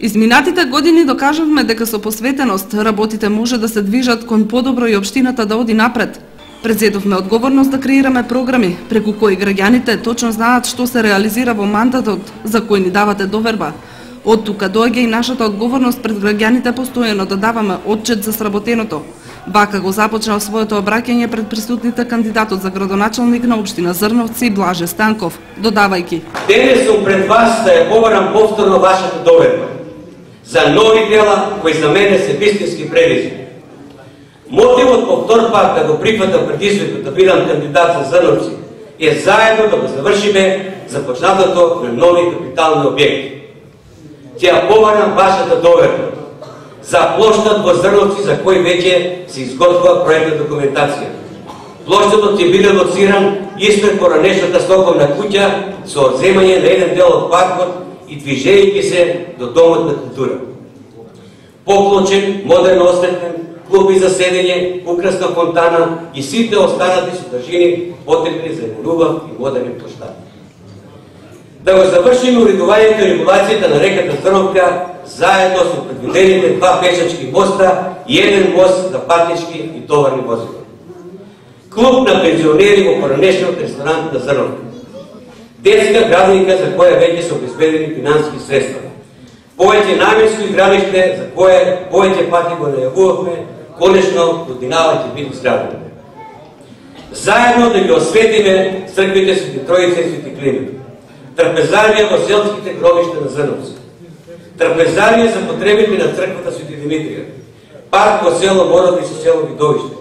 Изминатите години докажавме дека со посветеност работите може да се движат кон подобро и општината да оди напред. Презедовме одговорност да креираме програми преку кои граѓаните точно знаат што се реализира во мандатот за кој ни давате доверба. Од тука доаѓа и нашата одговорност пред граѓаните постојано да даваме отчет за сработеното. Вака го започнал своето обраќање пред присутните кандидатот за градоначалник на општина Зрновци Блаже Станков, додавајќи: Денес сум пред вас да ја побарам повторно вашата доверба за нови дела кои за мене се вистински предизвик. Мотивот повтор пак да го прифатам предизвикот да бидам кандидат за Зрновци е заедно да го завршиме започнатото на нови капитални објекти. Ќе побарам вашата доверба за плоштад во Зрновци за кој веќе се изготвува проектна документација. Плоштадот ќе биде лоциран испред поранешната стоковна куќа со одземање на еден дел од паркот и движејќи се до домот на култура. Поклучен, модерно осветлен, клуби за седење, украсна фонтана и сите останати содржини потребни за убав и модерен плоштад. Да го завршиме уредувањето и регулацијата на реката Зрновка заедно со предвидените два пешачки моста и еден мост за патнички и товарни возила. Клуб на пензионери во поранешниот ресторант на Зрновка. Детска градинка за која веќе се обезбедени финансиски средства. Повеќе наменско игралиште за кое повеќе пати го најавувавме, конечно годинава ќе биде изградено. Заедно да ги осветиме црквите Свети Троица и Свети Климент. Трапезарија во селските гробишта на Зрновци. Трапезарија за потребите на црквата Свети Димитрија. Парк во село Мород и со село Видовиште.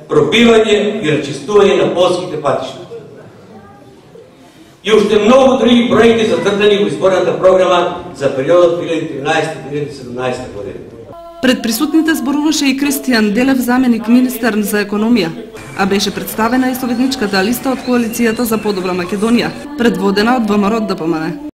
Пробивање и рачистување на полските патишта. И уште многу други проекти зацртани во изборната програма за периодот 2013-2017 година. Пред присутните зборуваше и Кристијан Делев, заменик министер за економија, а беше представена и советничката листа од коалицијата за подобра Македонија, предводена од ВМРО ДПМН.